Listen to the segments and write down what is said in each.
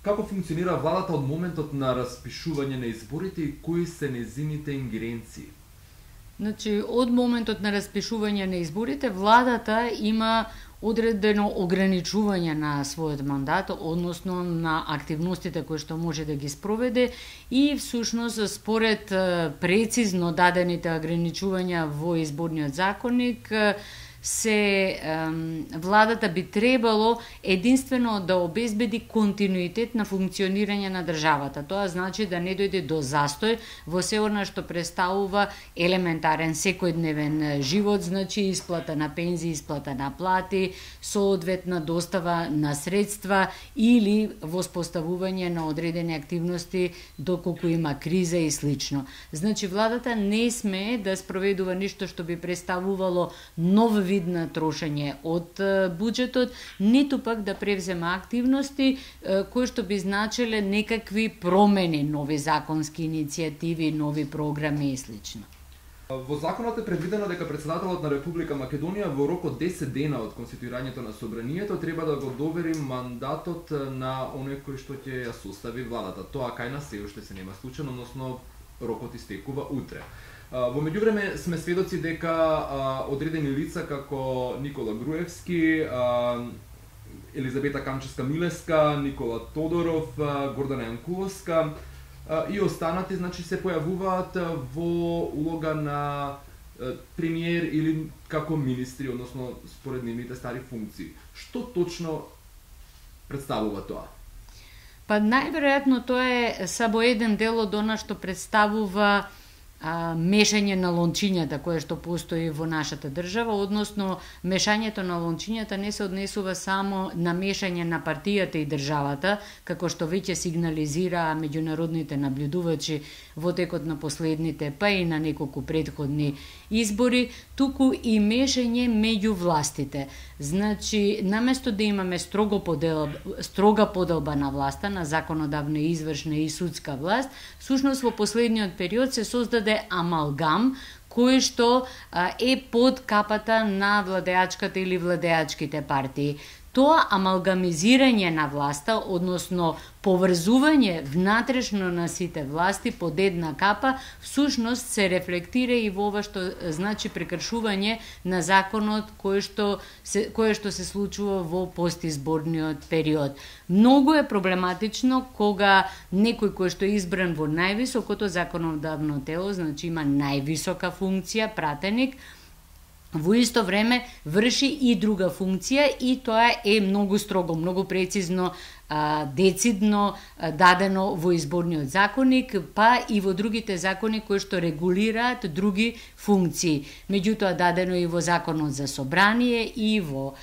Како функционира владата од моментот на распишување на изборите и кои се нејзините ингеренции? Значи, од моментот на распишување на изборите, владата има одредено ограничување на својот мандат, односно на активностите кои што може да ги спроведе и всушност според прецизно дадените ограничувања во изборниот законник владата би требало единствено да обезбеди континуитет на функционирање на државата. Тоа значи да не дојде до застој во се она што представува елементарен секојдневен живот, значи исплата на пензии, исплата на плати, соодветна достава на средства или воспоставување на одредени активности доколку има криза и слично. Значи владата не смее да спроведува ништо што би представувало нов вид на трошење од буџетот, ниту пак да превзема активности кои што би значеле некакви промени, нови законски иницијативи, нови програми и слично. Во законот е предвидено дека председателот на Република Македонија во рок од 10 дена од конституирањето на собранието треба да го довери мандатот на оној кој што ќе ја состави владата. Тоа кај нас се уште се нема случајно, односно рокот истекува утре. Во меѓувреме сме сведоци дека одредени лица како Никола Груевски, Елизабета Камчевска-Милеска, Никола Тодоров, Гордана Јанкуловска и останати, значи, се појавуваат во улога на премиер или како министри, односно според нивните стари функции. Што точно представува тоа? Па најверојатно тоа е само еден дел од она што представува мешање на лончињата кое што постои во нашата држава, односно мешањето на лончињата не се однесува само на мешање на партијата и државата, како што веќе сигнализира меѓународните наблюдувачи во текот на последните, па и на неколку претходни избори, туку и мешање меѓу властите. Значи, наместо да имаме строга поделба на власта, на законодавна, извршна и судска власт, всушност во последниот период се создаде амалгам кој што е под капата на владеачката или владеачките партии. Тоа амалгамизирање на власта, односно поврзување внатрешно на сите власти под една капа, всушност се рефлектира и во ова што значи прекршување на законот кое што се случува во постизборниот период. Многу е проблематично кога некој кој што е избран во највисокото законодавно тело, значи има највисока функција, пратеник, во исто време врши и друга функција и тоа е многу строго, многу прецизно, децидно дадено во изборниот законник, па и во другите закони кои што регулираат други функции. Меѓутоа дадено и во законот за собрание и во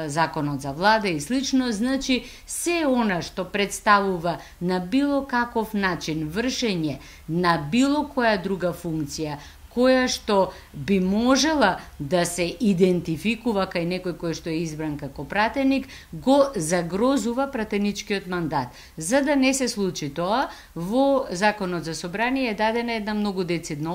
законот за влада и слично, значи се она што представува на било каков начин вршење на било која друга функција која што би можела да се идентификува кај некој кој што е избран како пратеник, го загрозува пратеничкиот мандат. За да не се случи тоа, во Законот за собрание е дадена една многу децидна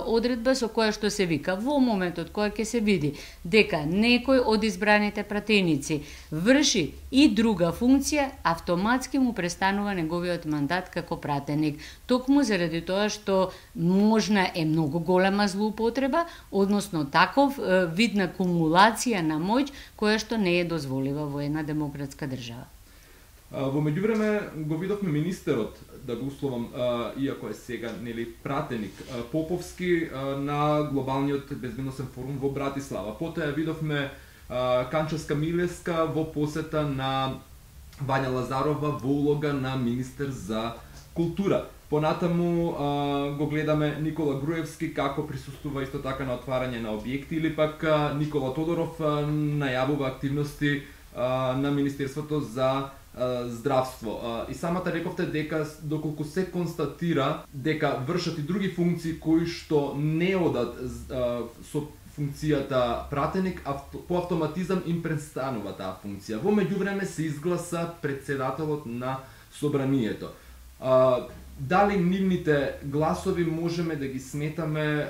одредба со која што се вика во моментот која ќе се види дека некој од избраните пратеници врши и друга функција, автоматски му престанува неговиот мандат како пратеник. Токму заради тоа што можна е многу голема злоупотреба, односно таков вид на кумулација на моќ која што не е дозволива во една демократска држава. Во меѓувреме го видовме министерот, да го условам, иако е сега нели пратеник, Поповски на глобалниот безбедносен форум во Братислава. Потоа видовме Камчевска-Милеска во посета на Вања Лазарова во улога на министер за култура. Понатаму го гледаме Никола Груевски како присуствува исто така на отварање на објекти, или пак Никола Тодоров најавува активности на Министерството за здравство. И самата рековте дека доколку се констатира дека вршат и други функции кои што не одат со функцијата пратеник, по автоматизам им престанува таа функција. Во меѓувреме се изгласа председателот на собранието. Дали нивните гласови можеме да ги сметаме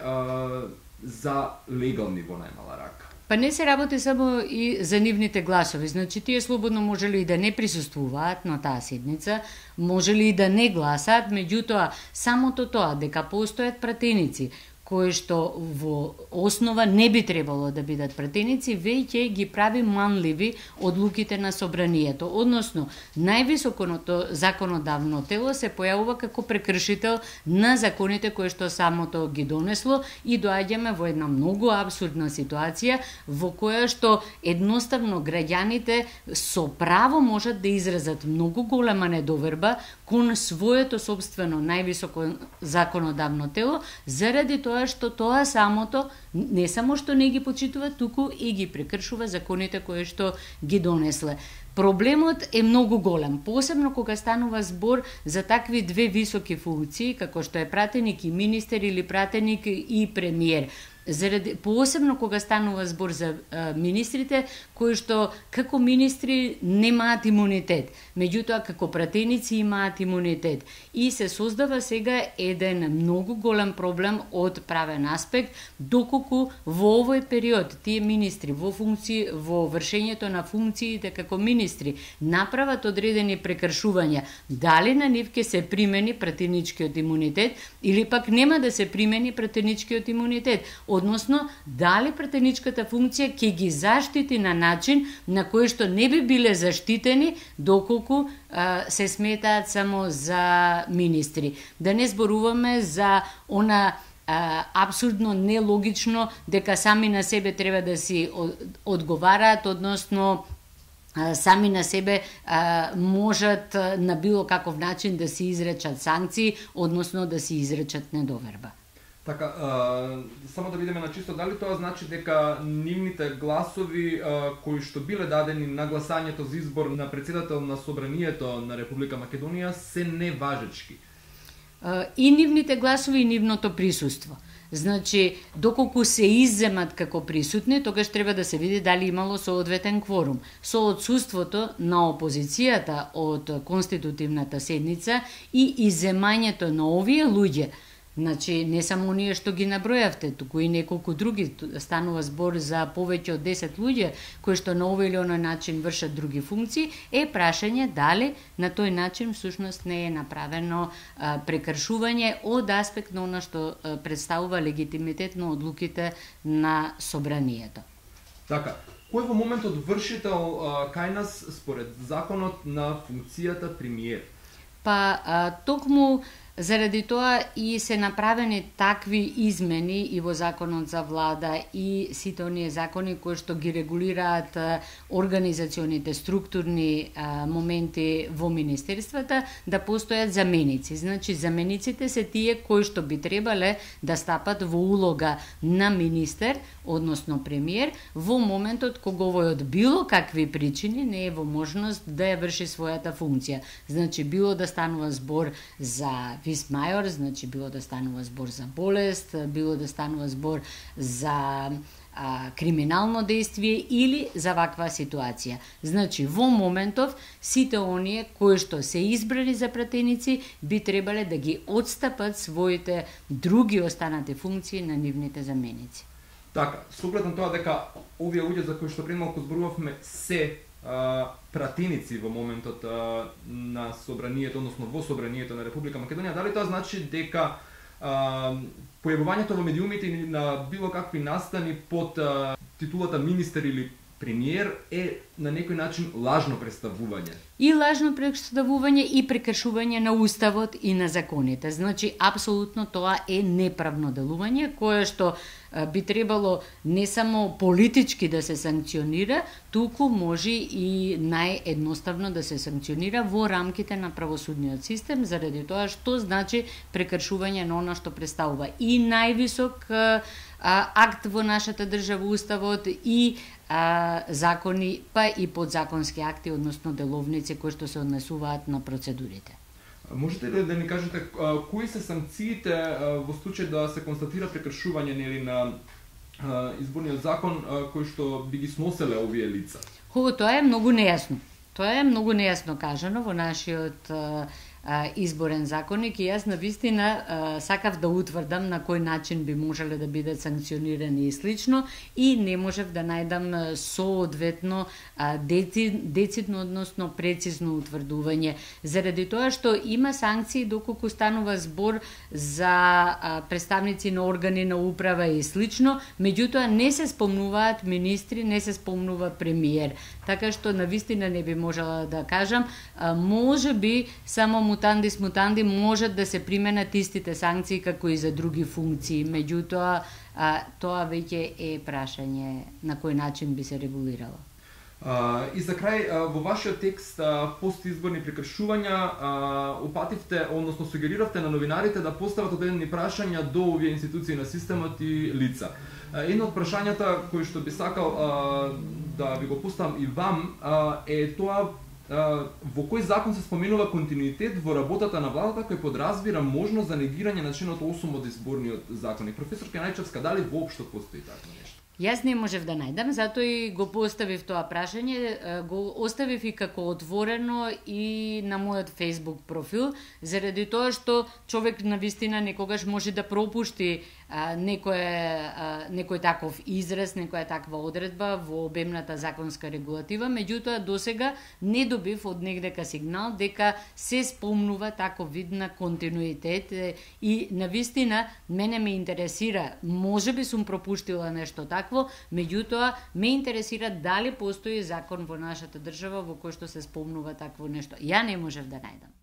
за легални во најмала рака? Па не се работи само и за нивните гласови. Значи, тие слободно можели и да не присуствуваат на таа седница, можели и да не гласаат, меѓутоа, самото тоа дека постојат пратеници, кои што во основа не би требало да бидат пратеници, веќе ги прави манливи одлуките на собранието. Односно, највисокото законодавно тело се појавува како прекршител на законите кои што самото ги донесло и доаѓаме во една многу апсурдна ситуација во која што едноставно граѓаните со право можат да изразат многу голема недоверба кон своето собствено највисоко законодавно тело, заради тоа што тоа самото не само што не ги почитува, туку и ги прекршува законите кои што ги донесле. Проблемот е многу голем, посебно кога станува збор за такви две високи функции, како што е пратеник и министер или пратеник и премиер. Посебно кога станува збор за министрите, кои што како министри немаат имунитет, меѓутоа како пратеници имаат имунитет. И се создава сега еден многу голем проблем од правен аспект, доколку во овој период тие министри во вршењето на функциите како министри направат одредени прекршувања, дали на нив ќе се примени пратеничкиот имунитет или пак нема да се примени пратеничкиот имунитет. Односно, дали пратеничката функција ќе ги заштити на начин на кој што не би биле заштитени доколку се сметаат само за министри. Да не зборуваме за она апсурдно нелогично дека сами на себе треба да си одговараат, односно сами на себе можат на било каков начин да си изречат санкции, односно да си изречат недоверба. Така, само да видиме на чисто, дали тоа значи дека нивните гласови кои што биле дадени на гласањето за избор на председател на Собранието на Република Македонија се неважечки? И нивните гласови и нивното присуство. Значи, доколку се изземат како присутни, тогаш треба да се види дали имало соодветен кворум. Со отсуството на опозицијата од конститутивната седница и изземањето на овие луѓе, значи, не само оние што ги набројавте, туку и неколку други, станува збор за повеќе од 10 луѓе кои што на овој или оној начин вршат други функции, е прашање дали на тој начин всушност не е направено прекршување од аспект на она што представува легитимитет на одлуките на собранието. Така, кој во моментот вршител кај нас според законот на функцијата премиер? Па токму заради тоа и се направени такви измени и во законот за влада и сите оние закони кои што ги регулираат организационите структурни моменти во министерствата, да постојат заменици. Значи, замениците се тие кои што би требале да стапат во улога на министер, односно премиер, во моментот кога овој од било какви причини не е во можност да ја врши својата функција. Значи, било да станува збор за вис мајор, значи било да станува збор за болест, било да станува збор за криминално действие или за ваква ситуација. Значи, во моментов, сите оние кои што се избрани за пратеници би требале да ги отстапат своите други останати функции на нивните заменици. Така, со оглед на тоа дека овие луѓе за кои што пред малку зборувавме се пратеници во моментот на собранието, односно во собранието на Република Македонија, дали тоа значи дека појавувањето во медиумите на било какви настани под титулата министер или премиер е на некој начин лажно представување? И лажно представување и прекршување на уставот и на законите. Значи, апсолутно тоа е неправно делување, кое што би требало не само политички да се санкционира, туку може и наједноставно да се санкционира во рамките на правосудниот систем, заради тоа што значи прекршување на она што представува и највисок акт во нашата држава, уставот, и закони, па и подзаконски акти, односно деловници кои што се однесуваат на процедурите. Можете ли да ни кажете кои се санкциите во случај да се констатира прекршување нели на изборниот закон кои што би ги сноселе овие лица? Тоа е многу нејасно. Тоа е многу нејасно кажано во нашиот изборен законник и јас навистина сакав да утврдам на кој начин би можеле да бидат санкционирани и слично и не можев да најдам соодветно децидно, односно прецизно утврдување. Заради тоа што има санкции доколку станува збор за представници на органи на управа и слично, меѓутоа не се спомнуваат министри, не се спомнува премиер. Така што навистина не би можела да кажам, може би само мутандис мутанди можат да се применат истите санкции како и за други функции, меѓутоа тоа веќе е прашање на кој начин би се регулирало. И за крај, во вашиот текст постизборни прекршувања упативте, односно сугериравте на новинарите да постават одредени прашања до овие институции на системот и лица. Едно од прашањата кои што би сакал да ви го поставам и вам е тоа во кој закон се споменува континуитет во работата на владата кој подразбира можност за негирање на членот 8 од изборниот законник. Професор Кенајчевска, дали воопшто постои такво нешто? Јас не можев да најдам, затоа и го поставив тоа прашање, го оставив и како отворено и на мојот Facebook профил, заради тоа што човек навистина некогаш може да пропушти некој таков израз, некоја таква одредба во обемната законска регулатива, меѓутоа досега не добив од негдека сигнал дека се спомнува таков вид на континуитет и навистина мене ме интересира, можеби сум пропуштила нешто такво, меѓутоа ме интересира дали постои закон во нашата држава во кој што се спомнува такво нешто. Ја не можев да најдам.